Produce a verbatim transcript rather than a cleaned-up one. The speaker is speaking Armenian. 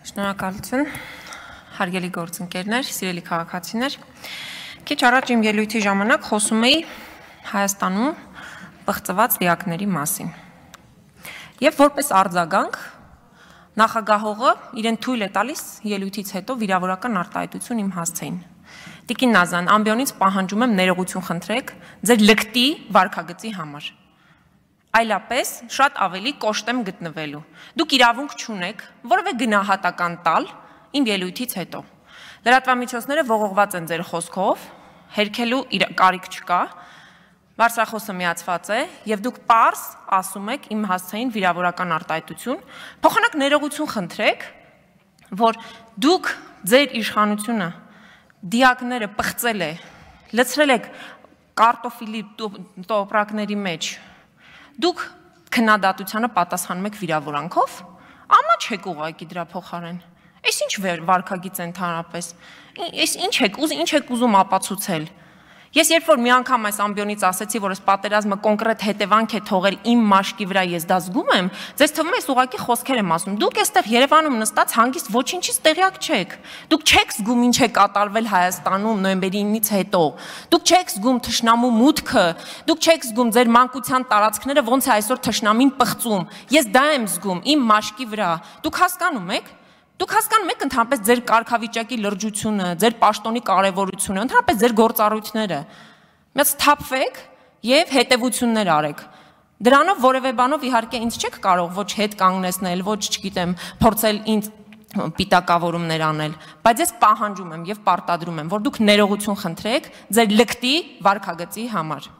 Շնորհակալություն, հարգելի գործընկերներ, սիրելի քաղաքացիներ։ Քիչ առաջ իմ ելույթի ժամանակ խոսում էի Հայաստանում պղծված դիակների մասին։ Եվ որպես արձագանք նախագահողը իրեն թույլ է տալիս ելույթից հետո վիրավորական արտահայտություն իմ հասցեին։ Տիկին Նազան, ամբիոնից պահանջում եմ ներողություն խնդրեք ձեր լկտի վարքագծի համար։ Այլապես շատ ավելի կոշտ եմ գտնվելու։ Դուք իրավունք չունեք որևէ գնահատական տալ իմ ելույթից հետո։ Լրատվամիջոցները ողողված են ձեր խոսքով, հերքելու կարիք չկա, բարձրախոսը միացված է եւ դուք պարզ ասում եք իմ հասցեին վիրավորական արտահայտություն, փոխանակ ներողություն խնդրեք, որ դուք ձեր իշխանությունը դիակները պղծել է, լցրել եք կարտոֆիլի տոպրակների մեջ, դուք քննադատությանը պատասխանում եք վիրավորանքով, ամա չեք ուղղակի դրա փոխարեն։ Այս ինչ վարքագիծ է ընդհանրապես, այս ինչ եք, ինչ եք ուզում ապացուցել։ Ես երբ որ մի անգամ այս ամբիոնից ասեցի, որ այս պատերազմը կոնկրետ հետևանք է թողել իմ մաշկի վրա, ես դա զգում եմ, ձեզ թվում է ես ուղղակի խոսքեր եմ ասում։ Դուք այստեղ Երևանում նստած հանգիստ ոչինչից տեղյակ չեք։ Դուք չեք զգում ինչ է կատարվել Հայաստանում նոյեմբերի իննից հետո։ Դուք չեք զգում թշնամու մուտքը, դուք չեք զգում ձեր մանկության տարածքները ոնց է այսօր թշնամին պղծում։ Ես դա եմ զգում իմ մաշկի վրա։ Դուք հասկանում եք։ Դուք հասկանում եք ընդհանրապես ձեր կարգավիճակի լրջությունը, ձեր պաշտոնի կարևորությունը, ընդհանրապես ձեր գործառույթները։ Մեծ թափվեք եւ հետեւություններ արեք։ Դրանով որևէ բանով իհարկե ինձ չեք կարող ոչ հետ կանգնեցնել, ոչ, չգիտեմ, փորձել ինձ պիտակավորումներ անել, բայց ես պահանջում եմ եւ պարտադրում եմ, որ դուք ներողություն խնդրեք ձեր լկտի վարքագծի համար։